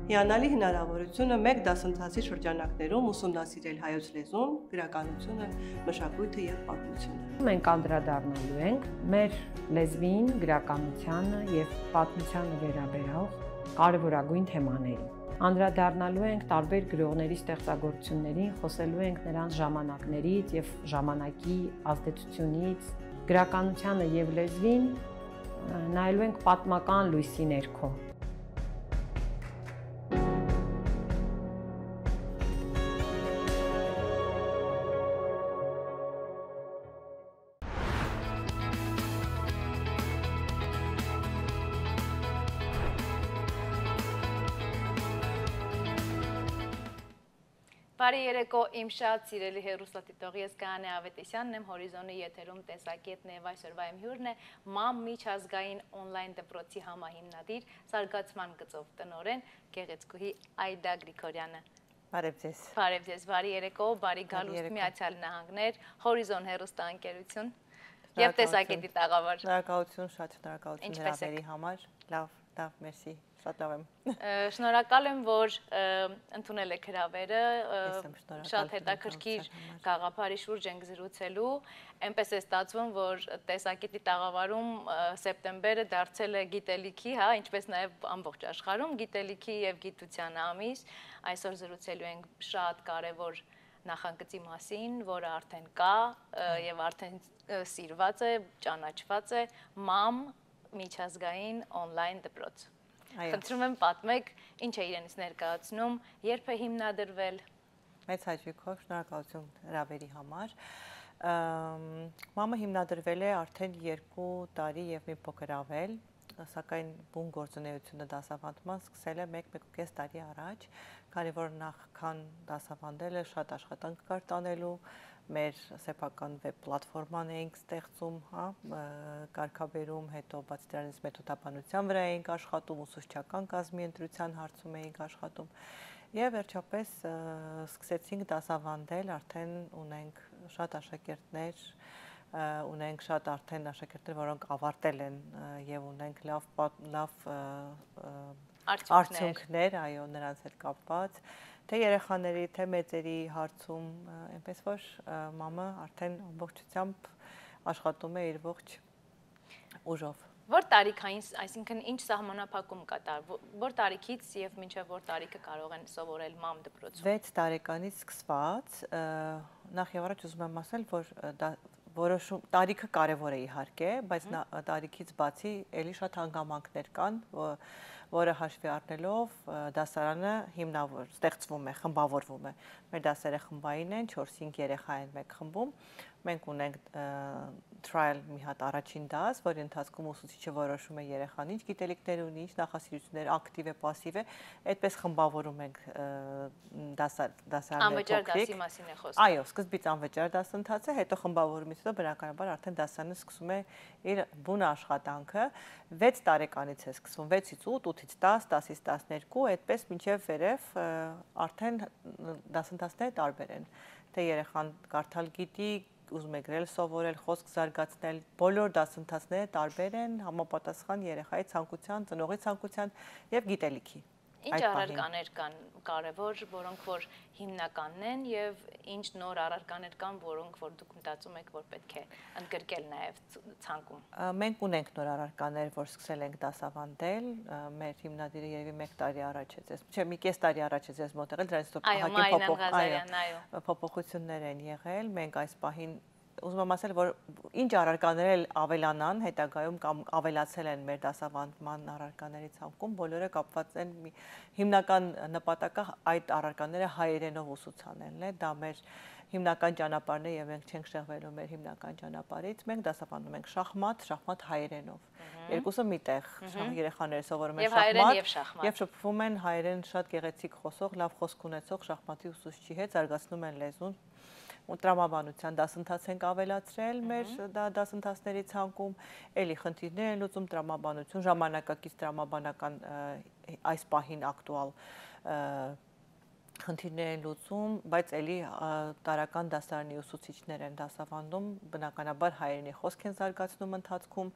Հիանալի հնարավորությունը մեկ դասընթացի շրջանակներում ուսումնասիրել հայոց լեզուն, գրականությունը, մշակույթը եւ պատմությունը։ Մենք անդրադառնալու ենք մեր լեզվին, գրականությանը եւ պատմությանը վերաբերող կարևորագույն թեմաներին։ Անդրադառնալու ենք տարբեր գրողների ստեղծագործություններին, խոսելու ենք նրանց ժամանակներից եւ ժամանակի ազդեցությունից, գրականությանը եւ լեզվին նայելու ենք պատմական լույսի ներքո։ Բարի երեկո, իմ շատ սիրելի հեռուստադիտող, ես Գայանե Ավետիսյանն եմ, Հորիզոնի եթերում տեսակետն եւ այսօրվա իմ հյուրն է ՄԱՄ միջազգային օնլայն դպրոցի համահիմնադիր, զարգացման գծով տնօրեն Գեղեցկուհի Այդա Գրիգորյանը։ Բարև ձեզ։ Բարև ձեզ, բարի երեկո, բարի գալուստ Միացյալ Նահանգներ, Հորիզոն հեռուստաընկերություն եւ տեսակետի տաղավար։ Շնորհակալություն, շատ շնորհակալություն հրավերի համար։ Լավ, մերսի։ Շատ լավ եմ։ Շնորհակալ եմ, որ ընդունել եք հրավերը, շատ հետաքրքիր գաղափարի շուրջ ենք զրուցելու, այնպես է ստացվում, որ տեսակետի տաղավարում սեպտեմբերը դարձել է գիտելիքի, հա, ինչպես նաև ամբողջ աշխարհում գիտելիքի եւ գիտության ամիս, այսօր զրուցելու ենք շատ կարևոր նախագծի մասին, որը արդեն կա եւ արդեն սիրված է, ճանաչված է ՄԱՄ միջազգային օնլայն դպրոց։ Խնդրում եմ պատմեք, ինչ է իրենից ներկայացնում, երբ է հիմնադրվել։ Մեծ հաճույքով, շնորհակալություն հրավերի համար։ ՄԱՄ-ը հիմնադրվել է արդեն 2 տարի եւ մի փոքր ավել, սակայն բուն գործունեությունը դասավանդման սկսել է 1-1.5 տարի առաջ, քանի որ նախքան դասավանդելը շատ աշխատանք կար տանելու, մեր սեփական վեբ պլատֆորման էինք ստեղծում, հա, կարգաբերում, հետո բացի դրանից մեթոդաբանության վրա էինք աշխատում, ուսուցչական կազմի ընտրության հարցում էինք աշխատում եւ վերջապես սկսեցինք դասավանդել, արդեն ունենք շատ աշակերտներ, ունենք շատ արդեն աշակերտներ, որոնք ավարտել են եւ ունենք լավ արդյունքներ, այո, նրանց հետ կապված, թե երեխաների, թե մեծերի հարցում, այնպես որ ՄԱՄ-ը արդեն ամբողջությամբ աշխատում է իր ողջ ուժով։ Որ տարիքային, այսինքն ինչ սահմանափակում կա, որ տարիքից եւ մինչեւ որ տարիքը կարող են սովորել ՄԱՄ դպրոցում։ 6 տարեկանից սկսված, նախ եւ առաջ ուզում եմ ասել, որ որոշում տարիքը կարևոր է իհարկե, բայց տարիքից բացի էլի շատ հանգամանքներ կան, որը հաշվի առնելով դասարանը ստեղծվում է, խմբավորվում է։ Մեր դասերը խմբային են, 4-5 երեխա են մեկ խմբում։ Մենք ունենք trial մի հատ առաջին դաս, որի ընթացքում ուսուցիչը որոշում է երեխան ինչ գիտելիքներ ունի, ինչ նախասիրություններ, ակտիվ է, պասիվ է, այդպես խմբավորում ենք դասարանը։ Անվճար դասի մասին է խոսքը։ Այո, սկզբից անվճար դասընթաց է, հետո խմբավորումից հետո բնականաբար արդեն դասարանը սկսում է իր բուն աշխատանքը, 6 տարեկանից է սկսվում, 6-ից 8, 8-ից 10, 10-ից 12, այդպես մինչև վերև արդեն դասընթացները տարբեր են, թե երեխան կարդալ գիտի, ուզում է գրել, սովորել, խոսք զարգացնել, բոլոր դասընթացները տարբեր են, համապատասխան երեխայի ցանկության, ծնողի ցանկության եւ գիտելիքի։ Ինչ առարկաներ կան կարևոր, որոնք որ հիմնականն են եւ ինչ նոր առարկաներ կան, որոնք որ դուք մտածում եք, որ պետք է ընդգրկել նաեւ ցանկում։ Մենք ունենք նոր առարկաներ, որ սկսել ենք դասավանդել, մեր հիմնադիրը երևի 1 տարի առաջ է ձեզ, չէ, մի կես տարի առաջ է ձեզ մոտ եղել, դրանից փոփոխություններ են եղել, մենք այս պահին ուզում եմ ասել, որ ինչ առարկաներ ավելանան, հետագայում կամ ավելացել են մեր դասավանդման առարկաների ցանկում, բոլորը կապված են հիմնական նպատակը այդ առարկաները հայերենով ուսուցանելն է, դա մեր հիմնական ճանապարհն է եւ մենք չենք շեղվելու մեր հիմնական ճանապարհից, մենք դասավանդում ենք շախմատ հայերենով։ Երկուսը միտեղ, երեխաները սովորում են շախմատ եւ շփվում են հայերեն շատ գեղեցիկ խոսող, լավ խոսք ունեցող շախմատի ուսուցչի հետ, զարգացնում են լեզուն։ ու տրամաբանության դասընթաց ենք ավելացրել մեր դասընթացների ցանկում, էլի խնդիրներ են լուծում տրամաբանություն, ժամանակակից տրամաբանական այս պահին ակտուալ խնդիրներ են լուծում, բայց էլի տարական դասարանի ուսուցիչներ են դասավանդում, բնականաբար հայերենի խոսք են զարգացնում ընթացքում,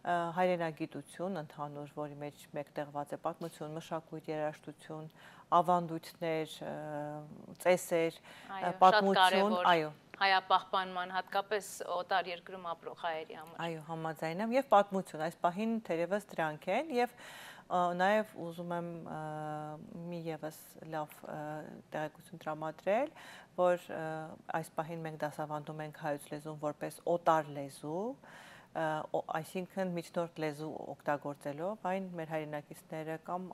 հայրենագիտություն ընդհանուր, որի մեջ մեկտեղված է պատմություն, մշակույթ, երաժշտություն, ավանդույթներ, ծեսեր, պատմություն, այո, հայապահպանման, հատկապես օտար երկրում ապրող հայերի համար։ Այո, համաձայն եմ, եւ պատմություն, այս պահին թերևս դրանք են եւ նաև ուզում եմ մի ևս լավ տեղեկություն տրամադրել, որ այս պահին մենք դասավանդում ենք հայոց լեզուն որպես օտար լեզու, այսինքն միջնորդ լեզու օգտագործելով այն մեր հայրենակիցները կամ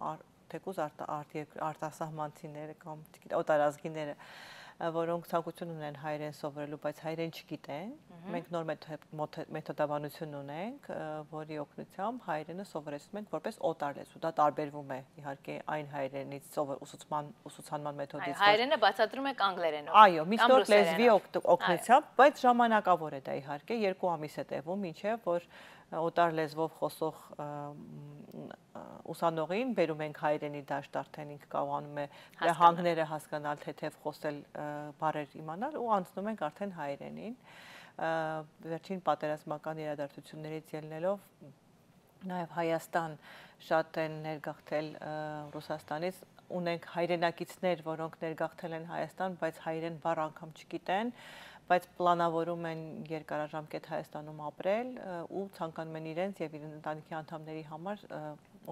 թեկուզ արտասահմանցիները կամ օտարազգիները, որոնք ցանկություն ունեն հայերեն սովորելու, բայց հայերեն չգիտեն, մենք նոր մեթոդաբանություն ունենք, որի օգնությամբ հայերենը սովորեցնում ենք որպես օտար լեզու։ Դա տարբերվում է իհարկե այն հայերենից ուսուցանման մեթոդից։ Հայերենը բացատրում եք անգլերենով։ Այո, միջնորդ լեզվի օգնությամբ, բայց ժամանակավոր է դա իհարկե, 2 ամիս է տևում, մինչև որ օտար լեզվով խոսող ուսանողին բերում ենք հայերենի դաշտ, արդեն ինքը կարողանում է հանգները հասկանալ, թեթև խոսել, բառեր իմանալ ու անցնում ենք արդեն հայերենին։ Վերջին պատերազմական իրադարձություններից ելնելով նաև Հայաստան շատ են ներգաղթել Ռուսաստանից, ունենք հայրենակիցներ, որոնք ներգաղթել են Հայաստան, բայց հայերեն բառ անգամ չգիտեն, բայց պլանավորում են երկարաժամկետ Հայաստանում ապրել ու ցանկանում են իրենց եւ իրենց ընտանիքի անդամների համար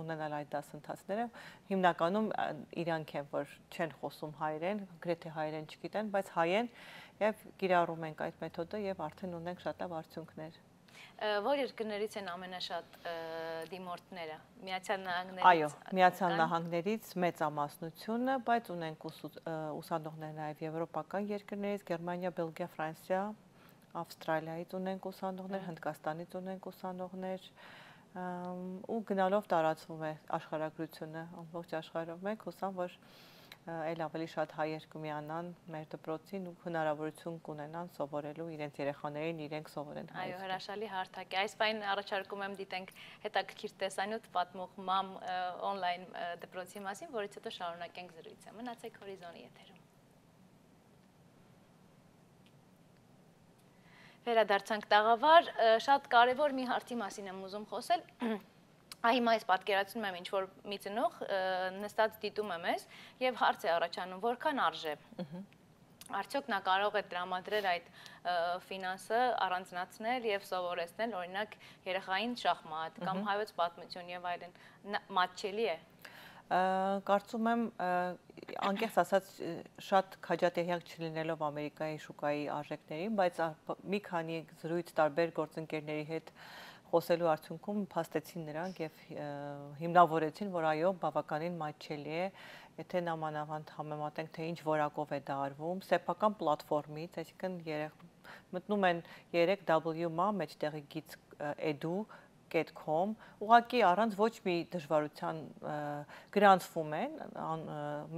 ունենալ այդ դասընթացները, հիմնականում իրանք են, որ չեն խոսում հայերեն, գրեթե հայերեն չգիտեն, բայց հայ են եւ կիրառում ենք այդ մեթոդը եւ արդեն ունենք շատ լավ արդյունքներ։ Որ երկրներից են ամենաշատ դիմորդները, Միացյալ Նահանգներից։ Այո, Միացյալ Նահանգներից մեծամասնությունը, բայց ունենք ուսանողներ նաև եվրոպական երկրներից, Գերմանիա, Բելգիա, Ֆրանսիա, Ավստրալիայից ունենք ուսանողներ, Հնդկաստանից ունենք ուսանողներ, ու գնալով տարածվում է աշխարհագրությունը ամբողջ աշխարհով մենք հուսամ, որ այլ ավելի շատ հայեր կմիանան մեր դպրոցին ու հնարավորություն կունենան սովորելու իրենց երեխաներին, իրենք սովորեն հայերեն։ Այո, հրաշալի հարթակ է։ Այս պայն առաջարկում եմ դիտենք հետաքրքիր տեսանյութ պատմող MAM on-line դպրոցի մասին, որից հետո շարունակենք զրույցը։ Մնացեք Հորիզոնի եթերում։ Վերադարձանք տաղավար, շատ կարևոր մի հարցի մասին եմ ուզում խոսել։ Հիմա ես պատկերացնում եմ ինչ-որ մի ծնող նստած դիտում է մեզ և հարց է առաջանում, որքան արժե։ Արդյոք նա կարող է տրամադրել այդ ֆինանսը առանձնացնել և սովորեցնել, օրինակ երեխային շախմատ կամ հայոց պատմություն և այլն, մատչելի է։ Կարծում եմ, անկեղծ ասած շատ քաջատեղյակ չլինելով Ամերիկայի շուկայի արժեքներին, բայց մի քանի զրույց տարբեր գործընկերների հետ խոսելու արդյունքում փաստեցին նրանք եւ հիմնավորեցին, որ այո, բավականին մատչելի է, եթե նամանավանդ համեմատենք, թե ինչ որակով է դա արվում, սեփական պլատֆորմից, այսինքն մտնում են 3W-մա մեջտեղի գից edu.com, ուղղակի առանց ոչ մի դժվարության գրանցվում են,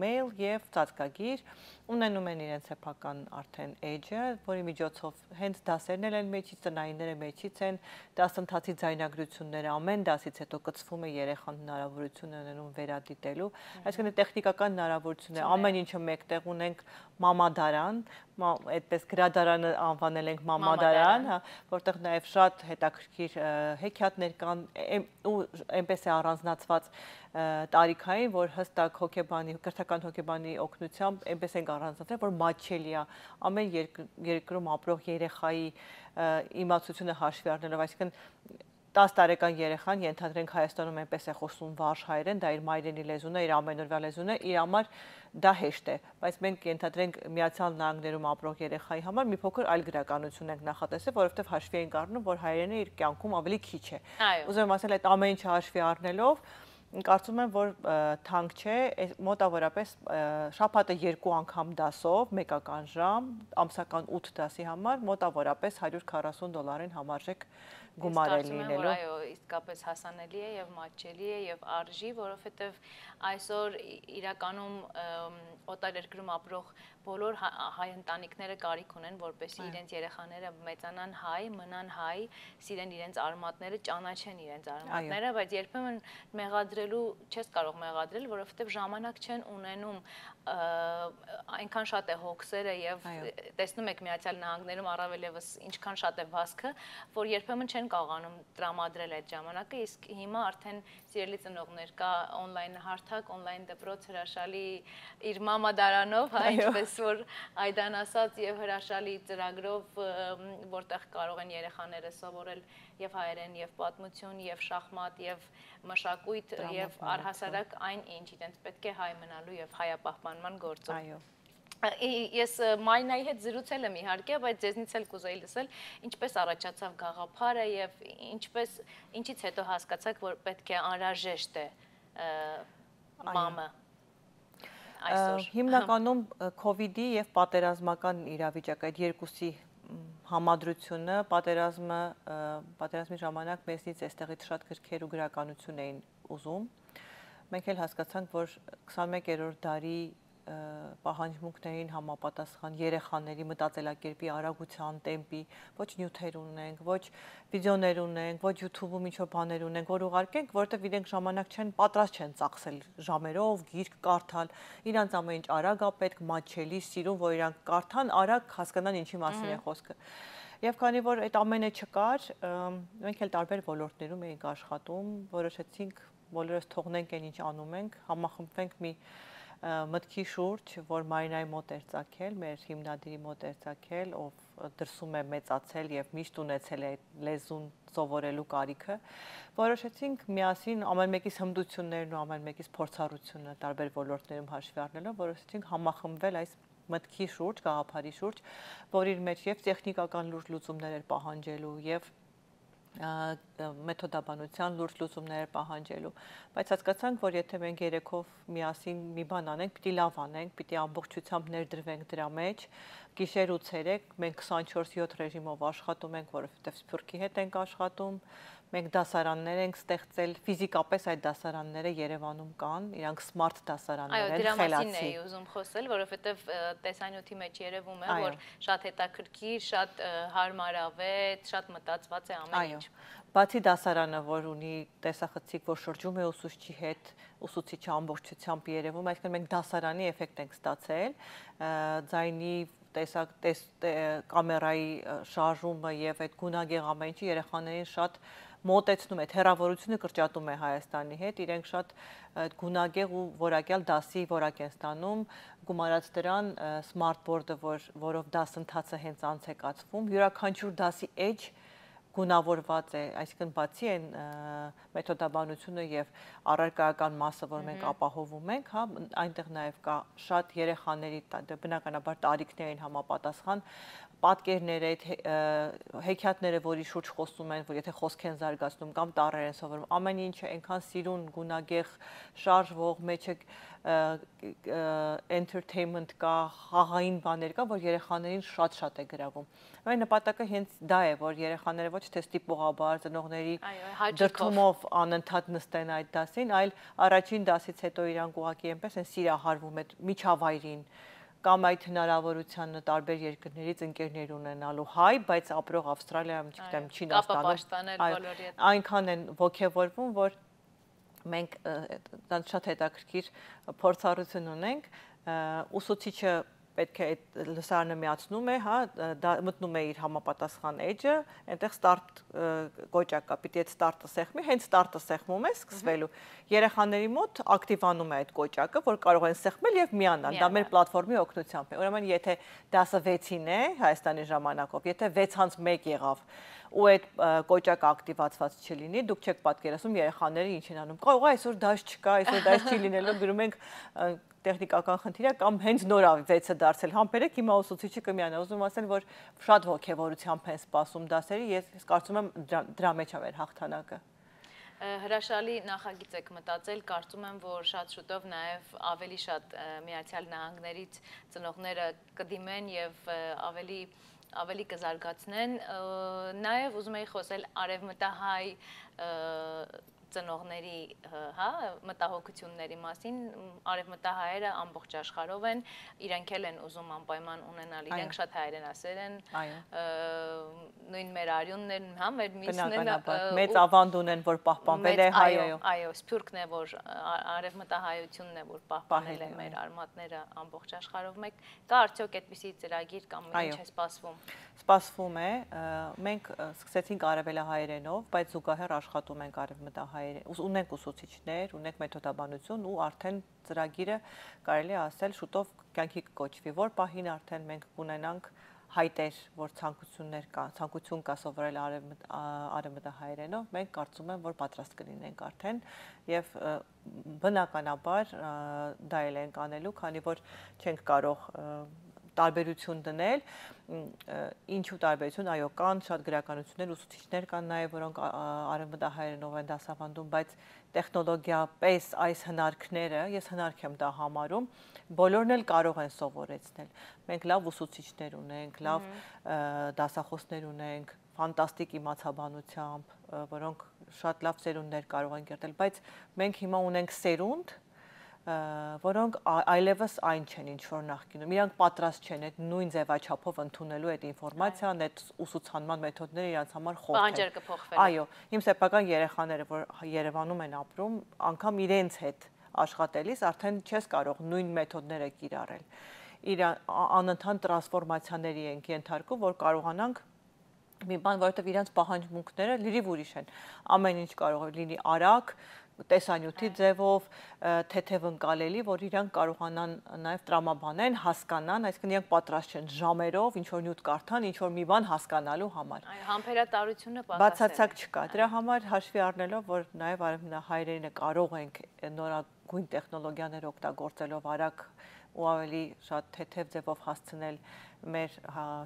մեյլ եւ ծածկագիր, ունենում են իրենց սեփական արդեն edge-ը, որի միջոցով հենց դասերն են մեջից, տնայինները մեջից են, դասընթացի ձայնագրությունները ամեն դասից հետո կցվում է երեխան հնարավորություն ունենում վերադիտելու, այսինքն տեխնիկական հնարավորություն է, ամեն ինչը մեկտեղ ունենք մամադարան, այդպես գրադարանը անվանել ենք մամադարան, որտեղ նաև շատ հետաքրքիր հեքիաթներ կան ու այնպես է առանձնացված տարիքային, որ հստակ հոգեբանի, կրթական հոգեբանի օգնությամբ այնպես ենք առանձնացել, որ մատչելի է ամեն երկրում ապրող երեխայի իմացությունը հաշվի առնելով, այսինքն 10 տարեկան երեխան ենթադրենք Հայաստանում այնպես է խոսում վարժ հայերեն, դա իր մայրենի լեզուն է, իր ամենօրյա լեզուն է, իր համար դա հեշտ է, բայց մենք ենթադրենք Միացյալ Նահանգներում ապրող երեխայի համար մի փոքր այլ գրականություն ենք նախատեսել, որովհետև հաշվի ենք առնում, որ հայերենը իր կյանքում ավելի քիչ է։ Ուզում եմ ասել, այդ ամեն ինչը հաշվի առնելով կարծում եմ, որ թանկ չէ, մոտավորապես շաբաթը 2 անգամ դասով, մեկական ժամ, ամսական 8 դասի համար, մոտավորապես $140 համարժեք գումար է լինելու։ Այո, իսկապես հասանելի է եւ մատչելի է եւ արժի, որովհետեւ այսօր իրականում օտար երկրում ապրող բոլոր հայ ընտանիքները կարիք ունեն, որպեսզի իրենց երեխաները մեծանան հայ, մնան հայ, սիրեն իրենց արմատները, ճանաչեն իրենց արմատները, բայց երբեմն մեղադրելու չես կարող մեղադրել, որովհետև ժամանակ չեն ունենում, այնքան շատ է հոգսերը եւ տեսնում եք Միացյալ Նահանգներում առավել եւս ինչքան շատ է վազքը, որ երբեմն չեն կարողանում տրամադրել այդ ժամանակը, իսկ հիմա արդեն սիրելի ծնողներ կա on-line հարթակ, on-line դպրոց հրաշալի իր մամադարանով, ինչպես որ Այդան ասաց եւ հրաշալի ծրագրով, որտեղ կարող են երեխաները սովորել եւ հայերեն եւ պատմություն եւ շախմատ եւ մշակույթ եւ առհասարակ այն ինչ իրենց պետք է հայ մնալու եւ հայապահպանման գործով։ Ես Մարինայի հետ զրուցել եմ իհարկե, բայց ձեզնից էլ կուզեի լսել, ինչպես առաջացավ գաղափարը եւ ինչից հետո հասկացաք, որ պետք է անհրաժեշտ է մամը այսօր։ Հիմնականում COVID-ի եւ պատերազմական իրավիճակը այդ երկուսի համադրությունը, պատերազմի ժամանակ մեզնից այստեղից շատ գրքեր ու գրականություն էին ուզում։ Մենք էլ հասկացանք, որ 21-րդ դարի պահանջմունքներին համապատասխան երեխաների մտածելակերպի արագության, տեմպի, ոչ նյութեր ունենք, ոչ վիդեոներ ունենք, ոչ YouTube-ում ինչ-որ բաներ ունենք, որ ուղարկենք, որովհետև իրենք ժամանակ չեն, պատրաստ չեն ծախսել ժամերով, գիրք կարդալ, իրանց ամեն ինչ արագ է պետք, մատչելի, սիրուն, որ իրանք կարդան, արագ հասկանան ինչի մասին է խոսքը։ Եվ քանի որ այդ ամենը չկար, մենք էլ տարբեր ոլորտներում էինք աշխատում, որոշեցինք բոլորս թողնենք այն ինչ անում ենք, համախմբվենք մի մտքի շուրջ, որ Մարինայի մոտ էր ծագել, մեր հիմնադիրի մոտ էր ծագել, ով դրսում է մեծացել եւ միշտ ունեցել է լեզուն սովորելու կարիքը, որոշեցինք միասին ամեն մեկիս հմտություններն ու ամեն մեկիս փորձառությունը տարբեր ոլորտներում հաշվի առնելով, որոշեցինք համախմբվել այս մտքի շուրջ, գաղափարի շուրջ, որ իր մեջ եւ տեխնիկական լուրջ լուծումներ էր պահանջելու եւ մեթոդաբանության լուրջ լուծումներ պահանջելու, բայց հասկացանք, որ եթե մենք երեքով միասին մի բան անենք, պիտի լավ անենք, պիտի ամբողջությամբ ներդրվենք դրա մեջ, գիշեր ու ցերեկ մենք 24/7 ռեժիմով աշխատում ենք, որովհետև Սփյուռքի հետ ենք աշխատում, մենք դասարաններ ենք ստեղծել, ֆիզիկապես այդ դասարանները Երևանում կան, իրանք սմարթ դասարաններ են, խելացի։ Այո, դրա մասին էի ուզում խոսել, որովհետև տեսանյութի մեջ երևում է, որ շատ հետաքրքիր, շատ հարմարավետ, շատ մտածված է ամեն ինչ։ Բացի դասարանը, որ ունի տեսախցիկ, որ շրջում է ուսուցչի հետ, ուսուցիչը ամբողջությամբ երևում, այսինքն մենք դասարանի էֆեկտ ենք ստացել, ձայնի կամերայի շարժումը եւ այդ գունագեղ ամեն ինչը երեխաներին շատ մոտեցնում է, հեռավորությունը կրճատում է Հայաստանի հետ, իրենք շատ գունագեղ ու որակյալ դասի որակ են ստանում, գումարած դրան smart board-ը, որով դասընթացը հենց անց է կացվում, յուրաքանչյուր դասի էջ գունավորված է, այսինքն բացի այն մեթոդաբանությունը եւ առարկայական մասը, որ մենք ապահովում ենք, հա, այնտեղ նաեւ կա շատ երեխաների բնականաբար տարիքներին համապատասխան պատկերներ, այդ հեքիաթները, որի շուրջ խոսում են, որ եթե խոսք են զարգացնում կամ տառեր են սովորում, ամեն ինչը այնքան սիրուն, գունագեղ, շարժվող, մեջը entertainment կա, խաղային բաներ կա, որ երեխաներին շատ է գրավում։ Այն նպատակը հենց դա է, որ երեխաները ոչ թե ստիպողաբար ծնողների դրդումով անընդհատ նստեն այդ դասին, այլ առաջին դասից հետո իրանք ուղղակի այնպես են սիրահարվում այդ միջավայրին կամ այդ հնարավորությանը տարբեր երկրներից ընկերներ ունենալու հայ, բայց ապրող Ավստրալիայում, չգիտեմ, Չինաստանում, այնքան են ոգևորվում, որ մենք շատ հետաքրքիր փորձառություն ունենք, ուսուցիչը պետք է այդ լսարանը միացնում է, հա, մտնում է իր համապատասխան էջը, այնտեղ ստարտ կոճակ կա, պիտի այդ ստարտը սեղմի, հենց ստարտը սեղմում է սկսվելու։ Երեխաների մոտ ակտիվանում է այդ կոճակը, որ կարող են սեղմել եւ միանալ։ Դա մեր պլատֆորմի օգնությամբ է։ Ուրեմն եթե դասը 6-ին է Հայաստանի ժամանակով, եթե 6:01 եղավ ու այդ կոճակը ակտիվացված չլինի, դուք չեք պատկերացնում երեխաները ինչ են անում։ Կարող է այսօր դաս չկա, այսօր դաս չի լինելու, գրում ենք տեխնիկական խնդիր է կամ հենց նոր 6-ը դարձել համբերեք, հիմա ուսուցիչը կմիանա, ուզում ասել, որ շատ ոգևորությամբ են սպասում դասերը, ես կարծում եմ դրա մեջ է մեր հաղթանակը։ Հրաշալի նախագիծ եք մտածել, կարծում եմ, որ շատ շուտով նաև ավելի շատ Միացյալ Նահանգներից ծնողները կդիմեն եւ ավելի կզարգացնեն, նաև ուզում էի խոսել արևմտահայ ծնողների, հա, մտահոգությունների մասին, արևմտահայերը ամբողջ աշխարհով են, իրենք էլ են ուզում անպայման ունենալ, իրենք շատ հայրենասեր են, նույն մեր արյունն են, հա, մեր միսն են, մեծ ավանդ ունեն, որ պահպանվել է հայոյ։ Այո, սփյուռքն է, որ արևմտահայությունն է, որ պահպանել է մեր արմատները ամբողջ աշխարհով մեկ, կա արդյոք այդպիսի ծրագիր կամ ինչ է սպասվում։ Սպասվում է, մենք սկսեցինք արևելահայերենով, բայց զուգահեռ աշխատում ենք արևմտահայերեն, ունենք ուսուցիչներ, ունենք մեթոդաբանություն ու արդեն ծրագիրը կարելի է ասել շուտով կյանքի կոչվի, որ պահին արդեն մենք կունենանք հայտեր, որ ցանկություն կա սովորել արևմտահայերենով, մենք կարծում եմ, որ պատրաստ կլինենք արդեն եւ բնականաբար դա էլ ենք անելու, քանի որ չենք կարող տարբերություն դնել, ինչու տարբերություն, այո, կան շատ գրականություններ, ուսուցիչներ կան նաև, որոնք արևմտահայերենով են դասավանդում, բայց տեխնոլոգիապես այս հնարքները, ես հնարք եմ դա համարում, բոլորն էլ կարող են սովորեցնել։ Մենք լավ ուսուցիչներ ունենք, լավ դասախոսներ ունենք, ֆանտաստիկ իմացաբանությամբ, որոնք շատ լավ սերունդներ կարող են կերտել, բայց մենք հիմա ունենք սերունդ, որոնք այլևս այն չեն, ինչ որ նախկինում, իրանք պատրաստ չեն այդ նույն ձևաչափով ընդունելու այդ ինֆորմացիան, այդ ուսուցանման մեթոդները իրանց համար խորթ են։ Պահանջարկը փոխվել է։ Այո, իմ սեփական երեխաները, որ Երևանում են ապրում, անգամ իրենց հետ աշխատելիս արդեն չես կարող նույն մեթոդները կիրառել։ Անընդհատ տրանսֆորմացիաների ենք ենթարկում, որ կարողանանք մի բան, որովհետև իրանց պահանջմունքները լրիվ ուրիշ են։ Ամեն ինչ կարող է լինի արագ, տեսանյութի ձևով, թեթև ընկալելի, որ իրանք կարողանան նաև տրամաբանեն, հասկանան, այսինքն իրանք պատրաստ չեն ժամերով ինչ-որ նյութ կարդան, ինչ-որ մի բան հասկանալու համար։ Այո, համբերատարությունը բացարձակ չկա։ Դրա համար հաշվի առնելով, որ նաև արևմտահայերենը կարող ենք նորագույն տեխնոլոգիաներ օգտագործելով արագ ու ավելի շատ թեթև ձևով հասցնել մեր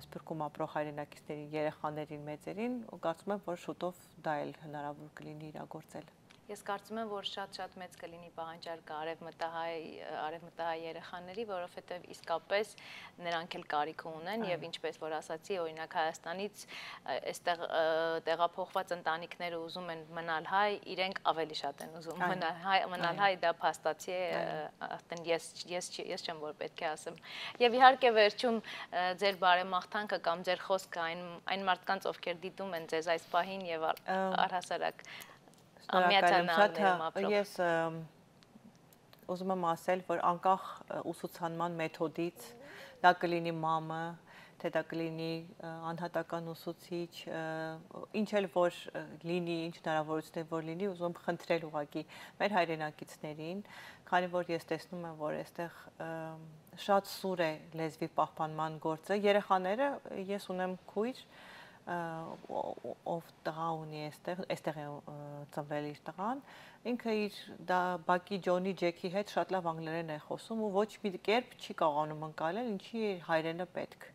սփյուռքում ապրող հայրենակիցներին, երեխաներին, մեծերին, ու կարծում եմ, որ շուտով դա էլ հնարավոր կլինի իրագործել։ Ես կարծում եմ, որ շատ մեծ կլինի պահանջարկը արևմտահայ երեխաների, որովհետև իսկապես նրանք էլ կարիք ունեն եւ ինչպես որ ասացի, օրինակ Հայաստանից այստեղ տեղափոխված ընտանիքները ուզում են մնալ հայ, իրենք ավելի շատ են ուզում մնալ հայ, դա փաստացի է, արդեն ես չեմ որ պետք է ասեմ։ Եվ իհարկե վերջում ձեր բարեմաղթանքը կամ ձեր խոսքը այն մարդկանց, ովքեր դիտում են ձեզ այս պահին եւ առհասարակ Ես ուզում եմ ասել, որ անկախ ուսուցանման մեթոդից, դա կլինի մամը, թե դա կլինի անհատական ուսուցիչ, ինչ էլ որ լինի, ինչ հնարավորություն որ լինի, ուզում եմ խնդրել ուղղակի մեր հայրենակիցներին, քանի որ ես տեսնում եմ, որ այստեղ շատ սուր է լեզվի պահպանման գործը, երեխաները, ես ունեմ քույր, ով տղա ունի այստեղ է ծնվել իր տղան, ինքը իր բակի Ջոնի Ջեքի հետ շատ լավ անգլերեն է խոսում ու ոչ մի կերպ չի կարողանում ընկալել, ինչի հայրենը պետք։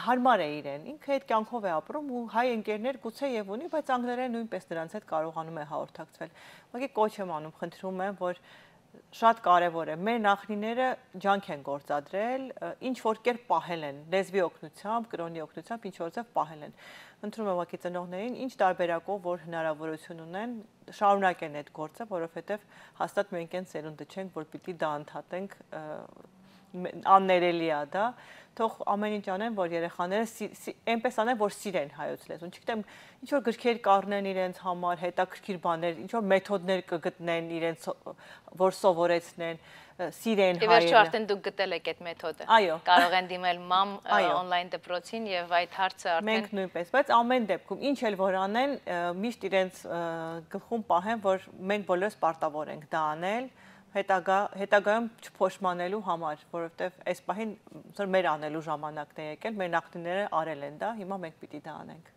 Հարմար է իրեն, ինքը այդ կյանքով է ապրում ու հայ ընկերներ գուցե եւ ունի, բայց անգլերեն նույնպես նրանց հետ կարողանում է հաղորդակցվել։ Ուղղակի կոչ եմ անում, խնդրում եմ, որ շատ կարևոր է, մեր նախնիները ջանք են գործադրել, ինչ որ կերպ պահել են, լեզվի օգնությամբ, կրոնի օգնությամբ, ինչ որ ձև պահել են։ Ընտրում եմ ուղղակի ծնողներին, ինչ տարբերակով, որ հնարավորություն ունեն, շարունակեն այդ գործը, որովհետև հաստատ մենք այն սերունդը չենք, որ պիտի դա ընդհատենք, աններելի է դա, թող ամեն ինչ անեն, որ երեխաները այնպես անեն, որ սիրեն հայոց լեզուն, չգիտեմ, ինչ որ գրքեր կառնեն իրենց համար, հետաքրքիր բաներ, ինչ որ մեթոդներ կգտնեն իրենց, որ սովորեցնեն, սիրեն հայերը։ Եվ վերջո արդեն դուք գտել եք այդ մեթոդը։ Այո։ Կարող են դիմել մամ on-line դպրոցին եւ այդ հարցը արդեն մենք նույնպես, բայց ամեն դեպքում ինչ էլ որ անեն, միշտ իրենց գլխում պահեն, որ մենք բոլորս պարտավոր ենք դա անել, հետագայում չփոշմանելու համար, որովհետև այս պահին մեր անելու ժամանակն է եկել, մեր նախնիները արել են դա, հիմա մենք պիտի դա անենք։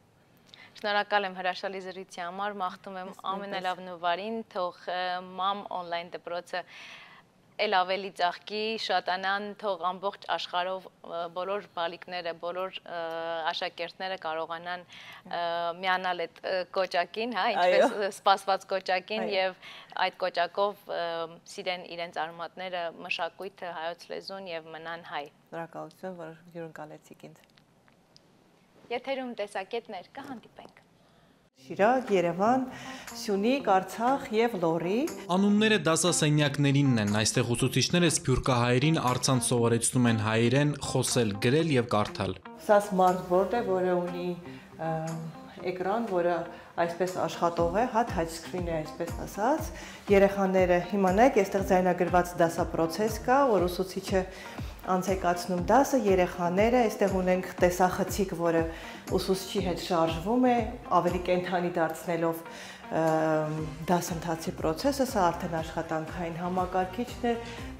Շնորհակալ եմ հրաշալի զրույցի համար, մաղթում եմ ամենալավ նվարին, թող մամ on-line դպրոցը էլ ավելի ծաղկի, շատանան, թող ամբողջ աշխարհով բոլոր բալիկները, բոլոր աշակերտները կարողանան միանալ այդ կոճակին, հա, ինչպես սպասված կոճակին եւ այդ կոճակով սիրեն իրենց արմատները, մշակույթը, հայոց լեզուն եւ մնան հայ։ Շնորհակալություն, որ հյուրընկալեցիք ինձ։ Եթերում տեսակետներ, կհանդիպենք։ Շիրակ, Երևան, Սյունիք, Արցախ եւ Լոռի։ Անունները դասասենյակներինն են, այստեղ ուսուցիչները սփյուռքահայերին առցանց սովորեցնում են հայերեն խոսել, գրել եւ կարդալ։ Սա սմարթբորդ է, որը ունի էկրան, որը այսպես աշխատող է, touch screen է, այսպես ասած։ Երեխաները հիմա նայեք, այստեղ ձայնագրված դասապրոցես կա, որ ուսուցիչը անցեկացնում դասը, երեխաները, այստեղ ունենք տեսախցիկ, որը ուսուցչի հետ շարժվում է, ավելի կենդանի դարձնելով դասընթացի process-ը, սա արդեն աշխատանքային համակարգիչն է,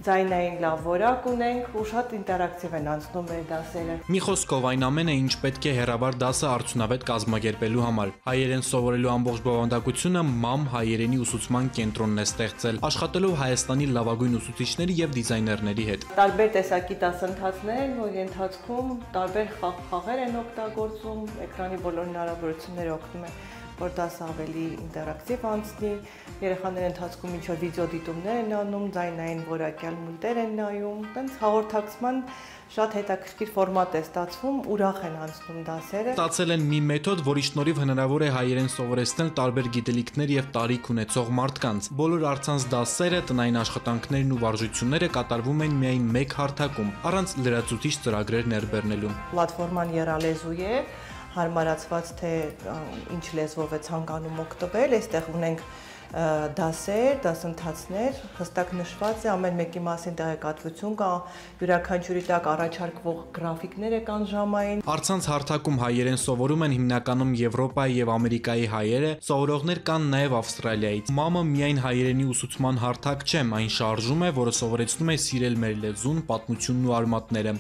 ձայնային լավ որակ ունենք ու շատ ինտերակտիվ են անցնում մեր դասերը։ Մի խոսքով այն ամենը, ինչ պետք է հեռավար դասը արդյունավետ կազմակերպելու համար։ Հայերեն սովորելու ամբողջ բովանդակությունը MAM հայերենի ուսուցման կենտրոնն է ստեղծել, աշխատելով Հայաստանի լավագույն ուսուցիչների եւ դիզայներների հետ։ Տարբեր տեսակի դասընթացներ են, որի ընթացքում տարբեր խաղեր են օգտագործում, էկրանի բոլոր հնարավորությունները օգնում են, որ դասը ավելի ինտերակտիվ անցնի, երեխաները ընթացքում ինչ-որ վիդեո դիտումներ են անում, ձայնային որակյալ մուլտեր են նայում, տենց հաղորդակցման շատ հետաքրքիր ֆորմատ է ստացվում, ուրախ են անցնում դասերը։ Ստացել են մի մեթոդ, որի շնորհիվ հնարավոր է հայերեն սովորեցնել տարբեր գիտելիքներ եւ տարիք ունեցող մարդկանց։ Բոլոր առցանց դասերը, տնային աշխատանքներն ու վարժությունները կատարվում են միայն մեկ հարթակում, առանց լրացուցիչ ծրագրեր ներբեռնելու։ Պլատֆորման եռալեզու է, հարմարացված թե ինչ լեզվով է ցանկանում օգտվել, այստեղ ունենք դասեր, դասընթացներ, հստակ նշված է ամեն մեկի մասին տեղեկատվություն կա, յուրաքանչյուրի տակ առաջարկվող գրաֆիկներ կան ժամային։ Առցանց հարթակում հայերեն սովորում են հիմնականում Եվրոպայի եւ Ամերիկայի հայերը, սովորողներ կան նաեւ Ավստրալիայից։ MAM-ը միայն հայերենի ուսուցման հարթակ չէ, այն շարժում է, որը սովորեցնում է սիրել մեր լեզուն, պատմությունն ու արմատները։